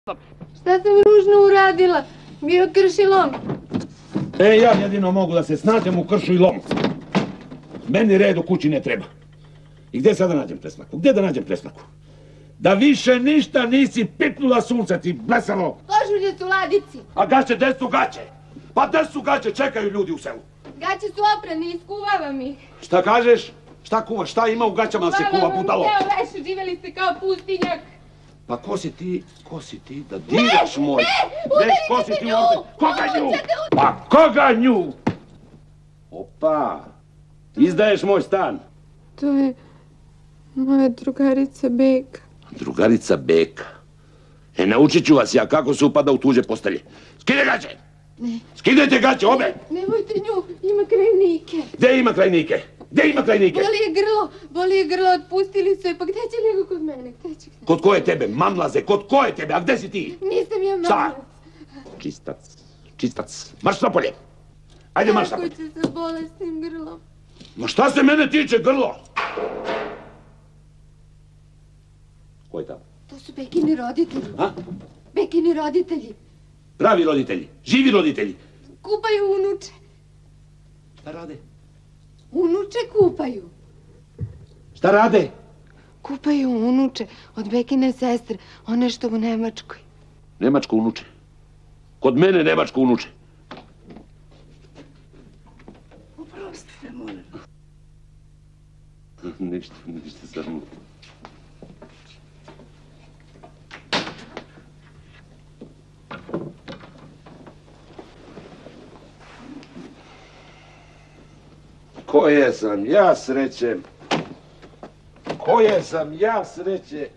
Šta sam ružno uradila? Bio krši lom. Ja jedino mogu da se snađem u kršu i lomu. Meni red u kući ne treba. I gdje sad da nađem presmaku? Gdje da nađem presmaku? Da više ništa nisi pipnula sunce, ti blesavo! Košulje su u ladici. A gaće, gdje su gaće? Pa gdje su gaće? Čekaju ljudi u selu. Gaće su oprane, iskuvavam ih. Šta kažeš? Šta kuvaš? Šta ima u gaćama da se kuva, budalo? Evo leši, živjeli ste kao pustinjak. Pa ko si ti da diraš moj? Ne, udarite nju! Koga nju? Pa koga nju? Opa, izdaješ moj stan. To je moja drugarica Beka. Drugarica Beka? Naučit ću vas ja kako se upada u tuđe postelje. Skidaj gaće! Ne. Skidajte gaće, obe! Nemojte nju, ima krajnike. Gdje ima krajnike? Gdje ima krajnike? Boli je grlo, otpustili su je, pa gdje će nego kod mene? Kod koje tebe, mamlaze, kod koje tebe, a gdje si ti? Nisam ja mamlac. Šta? Čistac, marš napolje! Ajde, marš napolje! Kako će sa bolesnim grlom? Ma šta se mene tiče, grlo? Ko je tamo? To su Bekini roditelji. A? Bekini roditelji. Pravi roditelji, živi roditelji. Kupaju unuče. Šta rade? Unuče kupaju. Šta rade? Kupaju unuče od Bekine sestre, one što u Nemačkoj. Nemačko unuče. Kod mene nemačko unuče. Oprostite, molim. Ništa samo. Koje sam ja sreće